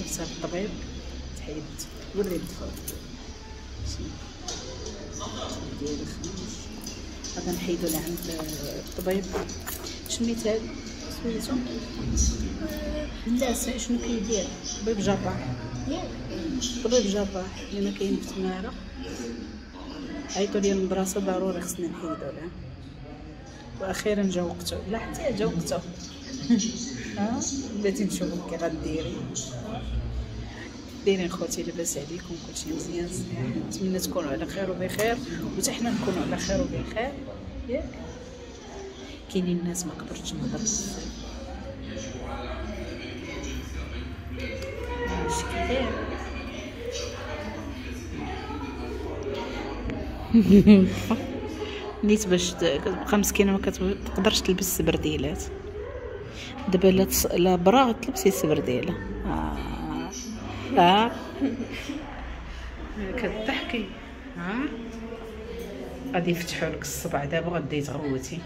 جبتها للطبيب تحيدت. وري الضفر ديالي خمس، غادا نحيدو لعند الطبيب. شميت هاد سميتو لا شنو كيدير؟ طبيب جراح، طبيب جراح اللي ما كاين في تماره. عيطوا لي المدرسة ضروري خصني نحيدو لها، واخيرا جا وقته. لا حتى جا وقته. ها بلاتي نشوفو كي غديري. دايرين خوتي لاباس عليكم، كلشي مزيان صحيح، نتمنى تكونوا على خير وبخير، وحتى حنا نكونوا على خير وبخير ياك. كاينين الناس ما قدرتش نهضر بزاف. اش كيدير؟ نيت باش كتبقى مسكينه ما كتقدرش تلبس سبرديلات. دابا لا برا تلبسي سبرديله. كضحكي. ها غادي يفتحوا لك الصبع دابا، غادي تغوتي.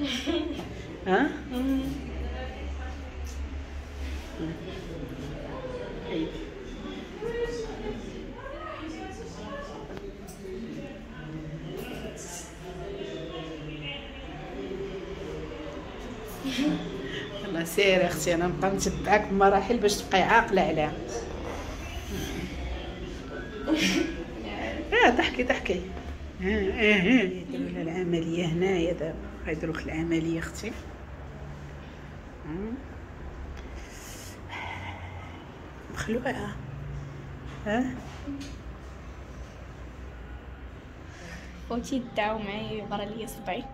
ها يلا سيري اختي، انا نبقى نتبعك بمراحل باش تبقاي عاقلة عليها. ضحكي ضحكي. يديروا لها العملية هنايا دابا، غيديروا لك العملية اختي. مخلوعه. ها خوتي دعاو معايا برا ليا صبعي.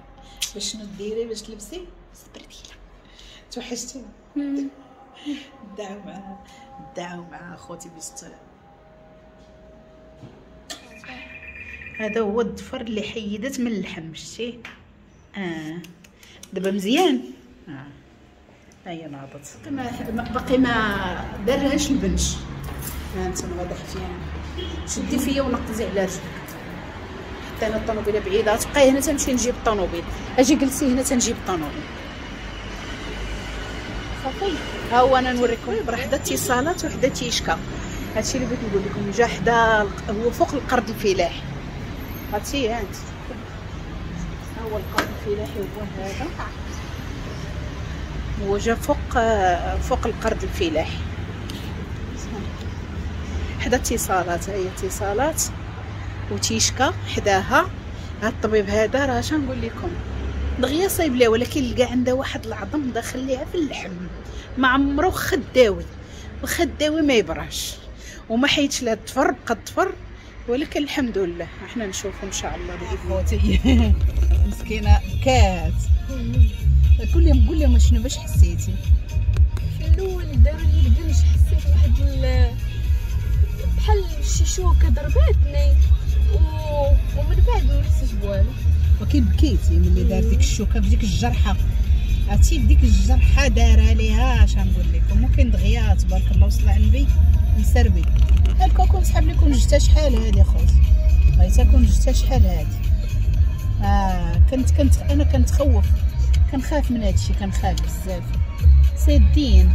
باش شنو ديري باش تلبسي سبرديله؟ توحشتي. دعاو مع دعاو مع خوتي باش. هذا هو الضفر اللي حيدت من اللحم، شتي؟ دابا مزيان. هيا ناضت، باقي ما دارهاش البنش. ها انت غادا حفيانه، شدي فيا ونقزي على رجلك. حتى انا الطوموبيله بعيدة، تبقاي هنا تمشي نجيب الطوموبيل. اجي جلسي هنا تنجيب الطوموبيل. صافي ها هو انا نوريكم. راه حدا اتصالات وحدا تيشكا. هادشي اللي بغيت نقول لكم، جا حدا هو فوق القرض الفلاحي. هادشي ها انت، ها هو القرض الفلاحي هو هذا، هو جا فوق القرض الفلاحي حدا اتصالات. ها هي اتصالات وتيشكا حداها. هاد الطبيب هذا راه اش نقول لكم، دغيا صايب ليها، ولكن لقى عندها واحد العظم داخل ليها في اللحم، ما عمرو خداوي، الخداوي ما يبراش، وما حيدش لها الضفر، بقى الضفر، ولكن الحمد لله احنا نشوفو ان شاء الله باذن. مسكينه بكات. قول لهم قول لهم شنو باش حسيتي؟ في الاول داروا لي البنج، حسيت واحد بحال شي شوكه ضرباتني، ومن بعد ما حسيتش بوالو. ولكن بكيتي ملي دار ديك الشوكة في ديك الجرحه، عرفتي في ديك الجرحه دارها ليها. اش غنقول لكم، ممكن دغيا تبارك الله وصل على النبي مسربي. هالكوكو سحب لكم جتا شحال هادي خوتي، بغيت كون جتا شحال هادي. كنت انا كنتخوف، كنخاف من هادشي، كنخاف بزاف. سادين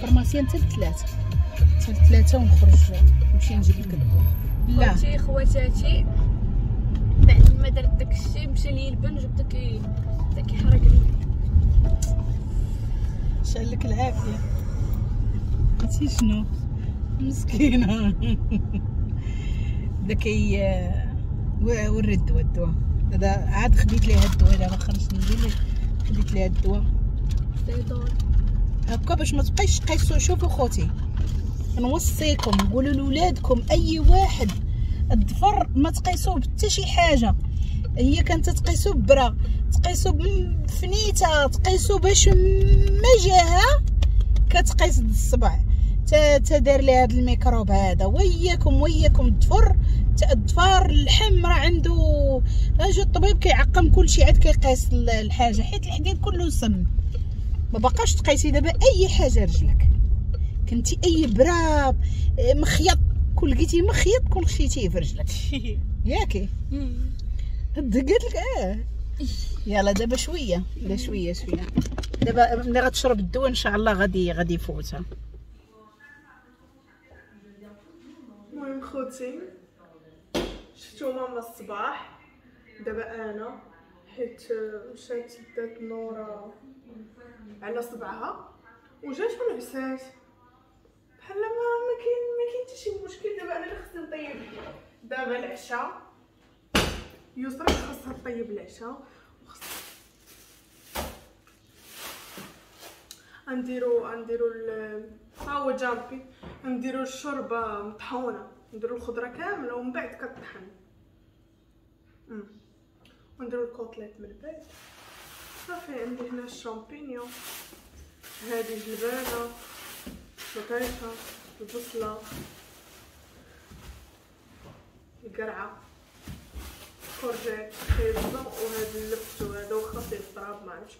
pharmacien حتى الثلاثة، حتى الثلاثة ونخرج نمشي نجيب لك الدواء. لا خوتي خواتاتي، بعد ما درت داكشي مشى لي البنج وبدا كيحرقني. شعل لك العافية. عرفتي شنو مسكينه؟ بدا كي وري الدواء. الدواء هذا عاد خديت ليها الدواء، دابا خرجت ندير خديت ليها الدواء هكا باش ما تبقايش تقيسو. شوفوا خوتي نوصيكم، قولوا لولادكم اي واحد الضفر ما تقيسوه بحتى شي حاجة. هي كانت تقيسو ببرا، تقيسو بفنيته، تقيسو باش ما جاها كتقيس الصبع تا دار لي هذا الميكروب هذا. وياكم وياكم الضفر، الضفار اللحم راه عنده اجي الطبيب كيعقم كلشي عاد كيقيس الحاجة، حيت الحديد كله سم. ما بقاش تقيسي دابا اي حاجة رجلك، كنتي اي برا مخيط، كون لقيتي مخيط كون خشيتيه في رجلك ياكي. قالت لك يلا دابا شوية، لا شوية شوية دابا ملي غتشرب الدواء ان شاء الله غادي يفوتها. المهم خوتي شفتو ماما الصباح، دابا انا حيت مشات دات نورا على صبعها وجات ونعسات بحال ما كاين حتى شي مشكل. دابا انا اللي خصني نطيب دابا العشاء، يسرا خاصها تطيب العشاء، وخص نديرو ها هو جامبي، نديرو الشوربة مطحونه، نديرو الخضرة كاملة ومن بعد كطحن، ونديرو ال côtelettes من بعد. صافي عندي هنا الشامبينيون، هذه جلبانه، البطيخه، البصله، القرعة، courgette، خيزو، وهذا اللفت وهذا واخا فيه التراب ما عرفتش،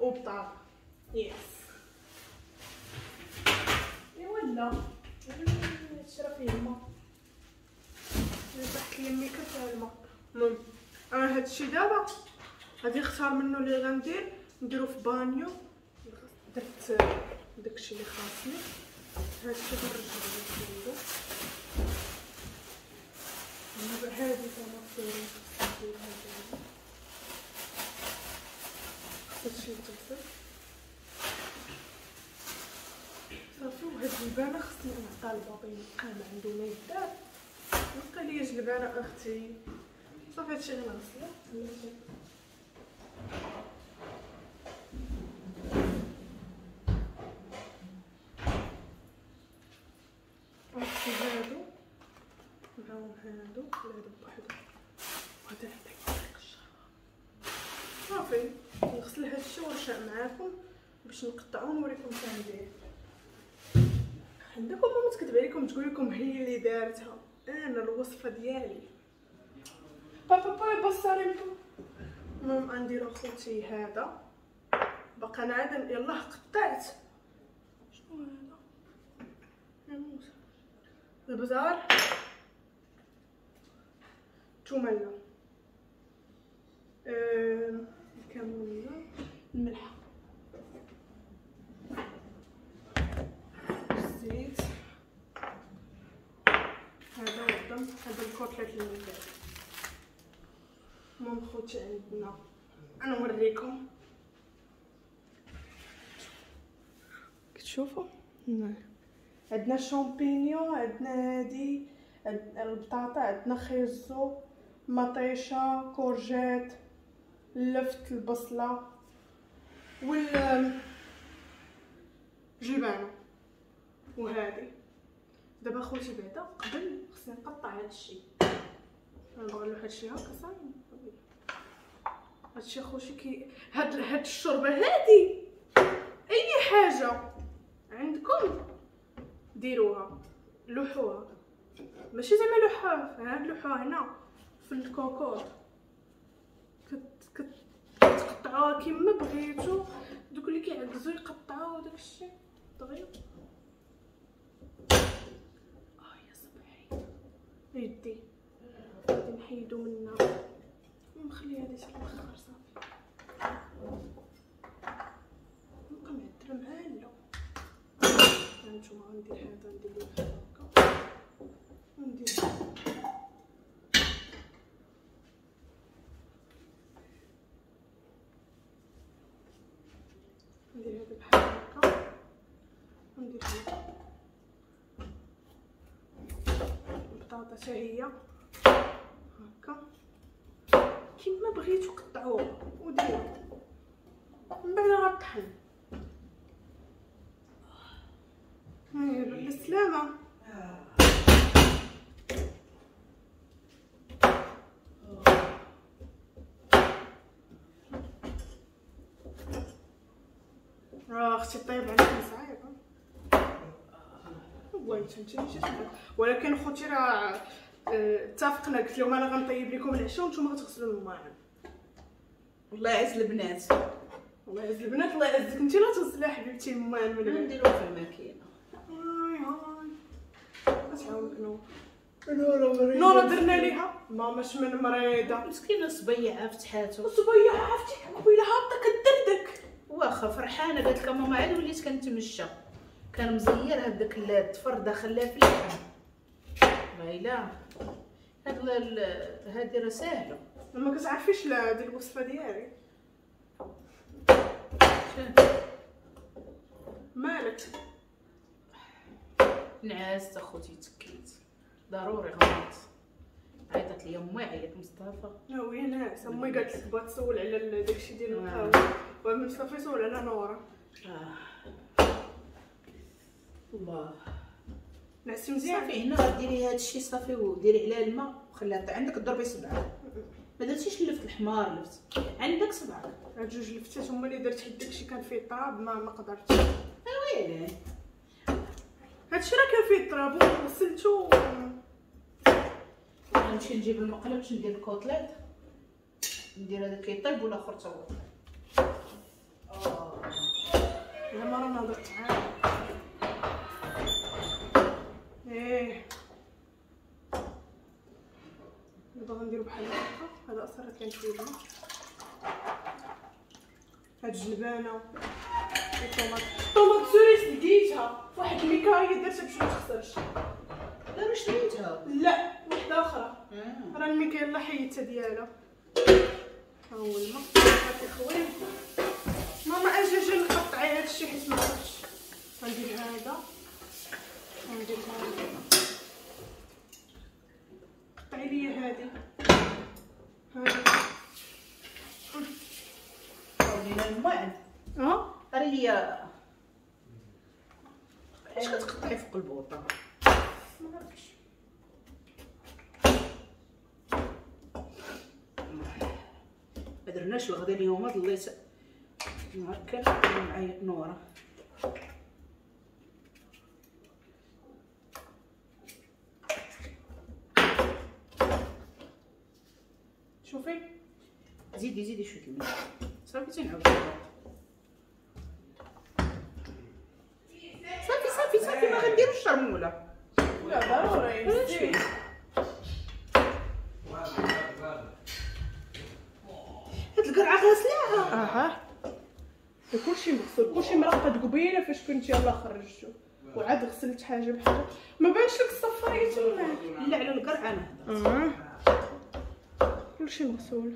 وبطاطا. yes ايوا لا هادشي راه فيه الماء، طاحت لي الميكا فيها الماء. المهم انا هادشي دابا غادي نختار منه اللي غندير نديرو في بانيو. درت داكشي اللي خاصني، هادشي غنرجعو للفريغو. هادي طوماطيم نديرها دابا، هادشي يتغسل صافي. وهاد الجلبانه خصني نعطيها لبابا يبقى ما عندو ما يدار، بقى ليا جلبانه اختي. صافي هادشي غنغسلو. غنغسل هادو معاهم هادو ولا هادو بوحدو، وهذا نعطيك طريق الشربة. صافي نغسل هادشي ونرجع معاكم باش نقطعو ونوريكم كندير. عندكم ماما تكتب عليكم تقول لكم هي اللي دارتها، انا الوصفة ديالي. بابا با بصاري. المهم غنديرو خوتي هذا باقا انا عاد يلاه قطعت. شنو هذا؟ يا البزار، الثومه، الكمونيه، الملحة، الزيت، هذا والدم، هذا الكوتلات اللي من بعد. المهم خوتي عندنا انا نوريكم، كتشوفوا عندنا الشامبينيون، عندنا هادي، عندنا البطاطا، عندنا خيزو، مطيشه، courgette، اللفت، البصله، وال جلبانه. وهادي دابا خوتي بعدا قبل خصني نقطع هادشي، نبغي نلوح هادشي هكا صافي. هادشي خوتي كي هاد الشوربة هادي اي حاجة عندكم ديروها، لوحوها، ماشي زعما لوحوها، هاد لوحوها هنا في الكوكوط، كتقطعوها كيما بغيتو. دوك اللي كيعكزو يقطعوا داكشي دغيا. يا صبعي يدي غادي نحيدو منها ونخلي هادي حتى الاخر. صافي نبقى معدله معاه. لا هانتوما غندير هذا، ندير له بحال هكا وندير هذا بحال هكا وندير هذا. البطاطا حتى هي هكا كيما بغيتو قطعوها وديروا، من بعد غطحن. بالسلامة. اختي طيب عليكم صعيبة والله انت ماشي، ولكن خوتي راه اتفقنا، قلت لهم انا غنطيب لكم العشاء وانتم غتغسلوا المواعن. الله يعز البنات، الله يعز البنات، الله يعزك انت. لا تغسلي حبيبتي المواعن من بعد، نديرو في الماكينة. هاي هاي غتعاونك نور. نورا درنا ليها ماما شمن مريضه مسكينه، صبيعه فتحاتو، صبيعه عرفتي قبيلة هابطة كدردك. واخا فرحانة قالت لك ماما عاد وليت كنتمشى، كان مزير هذاك الطفر داخل لها في اللحم. والله الا هاد هادي راه ساهله. ما كتعرفيش لا هادي الوصفة ديالي. مالك؟ نعست اخوتي، تكيت ضروري غلط. عيطت لي امي، عيط مصطفى. لا وي ناعسه امي قالت لك بغات تسول على داكشي ديال القهوة، ومصطفى يسول على نوره. الله نعسي مزيان. صافي هنا غديري هادشي صافي وديري عليها الماء وخليها عندك ضربي سبعة. ما درتيش اللفت الحمار، لفت عندك سبعة. هاد جوج لفتات هما اللي درت حيت داكشي كان فيه التراب ما قدرتش. ويلي هادشي راه كان فيه التراب وغسلتو. غنمشي نجيب المقله باش ندير ال côtelettes، ندير هذا كيطيب والاخر تا هو. زعما راه نهضر تعال. ايه دابا غنديرو بحال هكا. هذا اصلا كان شوية الماء. هاد الجلبانه ال tomate، ال tomate cerise لقيتها فواحد الميكايه درتها باش ما تخسرش. لا راه شريتها. لا وحده اخرى. راه الميكايه الله حيدتها ديالها. ها هو الماء هاكي خويا. ماما اجي اجي نقطعي هادشي حيت ما عرفتش. غندير هذا غندير هذا. قطعي لي هادي هادي. ولينا الماعن. قري لي علاش كتقطعي فوق البوطه؟ ما عرفتش. ما درناش الغدا اليوم، ضليت نهار كامل معايا نوره. شوفي زيدي زيدي شوية الماء صافي تنعاود. صافي صافي صافي ما غنديروش الشرموله. لا ضروري زيد. هاد القرعة غاسلاها. اها كلشي مغسول، كلشي مرقد قبيلة فاش كنت يلاه خرجتو وعاد غسلت حاجة بحاجة. ما بانش لك الصفاريه تما؟ لا على القرعة انا هضرت. كلشي مغسول.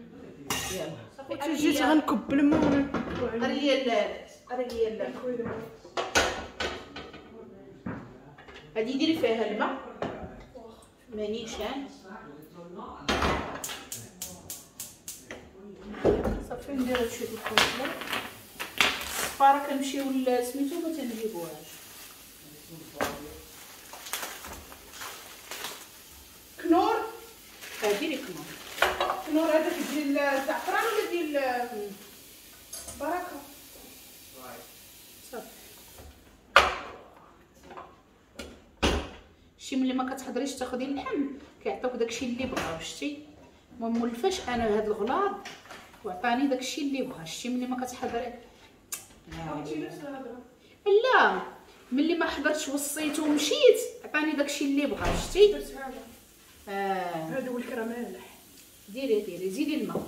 يلا جيت غنكب الماء. قري لي قري لي هادي ديري فيها الماء مانيشان. صافي ندير هادشي ديال الكوكله. الصفاره كنمشيو لسميتو ما تنجيبوهاش. كنور ديري كنور. كنور هذاك ديال الزعفران ولا ديال بركة؟ صافي شي ملي ما كتحضريش تاخدي اللحم كيعطوك داكشي اللي بغاو. شتي ما مولفاش انا هاد الغلاض وعطاني داكشي اللي بغا. شتي ملي ما كتحضري لا ملي ما حضرتش وصيت ومشيت عطاني داكشي اللي بغا. شتي درت هذا. هذا هو الكراميل. ديري ديري زيدي الماء.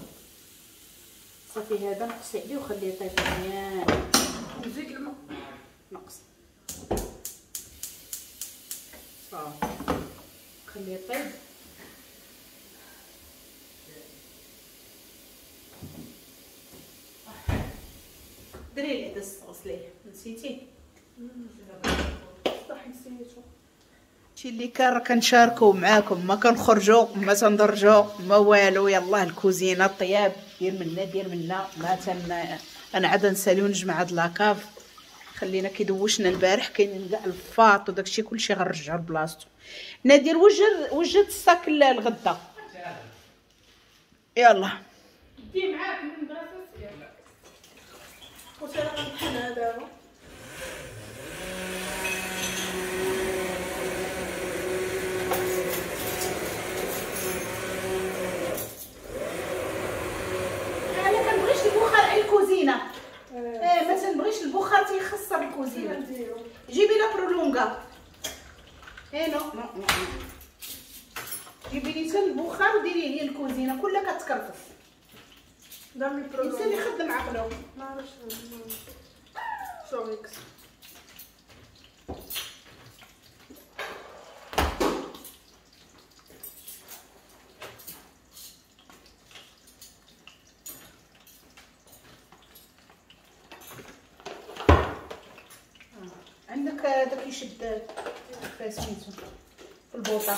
صافي هذا نقصي عليه وخليه يطيب مزيان. نزيد الماء نقص صافي خليه يطيب. دري العدس غسليه نسيتي؟ صح نسيتو. هادشي اللي كان راه كنشاركو معاكم، ما كنخرجوا ما تندرجوا ما والو. يلاه الكوزينة الطياب دير منا دير منا. ما تن انا عاد نسالي ونجمع هاد la cave. خلينا كيدوشنا البارح كاين كاع الفاط وداكشي كلشي غنرجعو لبلاصتو. نادر وجد ال sac الغدا. يلا دي معاك من المدرسة سير. خوتي راه غنطحنها دابا. انا كنبغيش البخار على الكوزينة. ما تنبغيش البخار تيخسر الكوزينة. جيبي la prolonga. Non non non جيبي لي حتى البخار وديري لي الكوزينة كلها كتكرفس. دامي prolonga الانسان يخدم عقله. ما عرفتش سوريكس. هذا كيشد في سميتو في البوطه.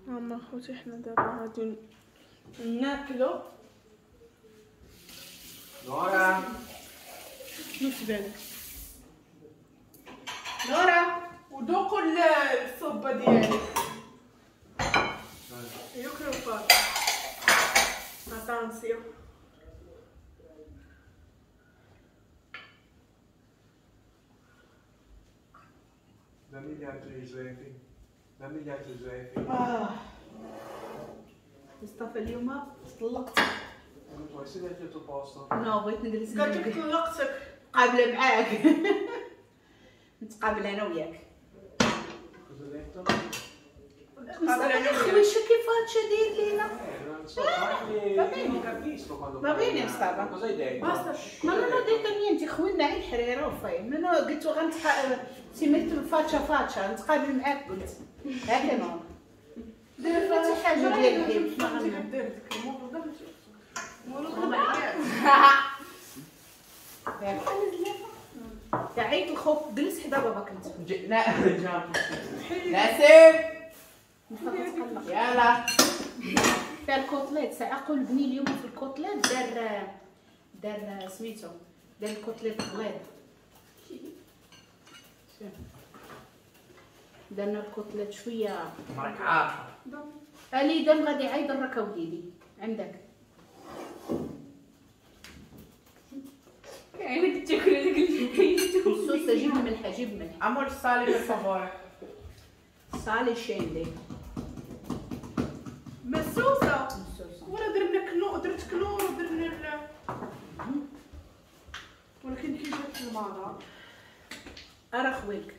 ماما خوتي حنا دابا غادي ناكلو. نورا شنو تبان نورا؟ وذوقوا الصوبه ديالي. Io credo fare. Attenzione. Dammi gli altri Giuseppe. Dammi gli altri Giuseppe. مصطفى اليوم طلقتك. Non puoi sederti al tuo posto. No بغيت نجلس. قالت لك طلقتك. قابله معاك. نتقابل انا وياك. Cosa ho detto? مصطفى خويشه كيف هادشي داير لينا؟ Va bene Mustafa. Cosa hai detto? Basta. Ma non ho detto niente, خوينا غير الحريره وفاي. ما انا قلت غنتقابل سميت faccia faccia نتقابل معاك قلت هكا نو. درت حتى حاجة ديال الحيل ما غنعمل. عيط الخوف جلس حدا باباك انت. ناسب يلا فيها ال côtelette ساعة قول بني اليوم في ال côtelette دار سميتو دار ال côtelette غليظ. درنا ال côtelette شوية راك عارفه الي دم غادي عايد الركا وليدي عندك عينك تاكل هذاك اللي الصوص. جيب ملحة جيب ملحة. Amore sale per favore. Sale scende. ما السوسه ولا درنا كنو درت كنور ودرنا ولكن كي جات المرة ارا خويك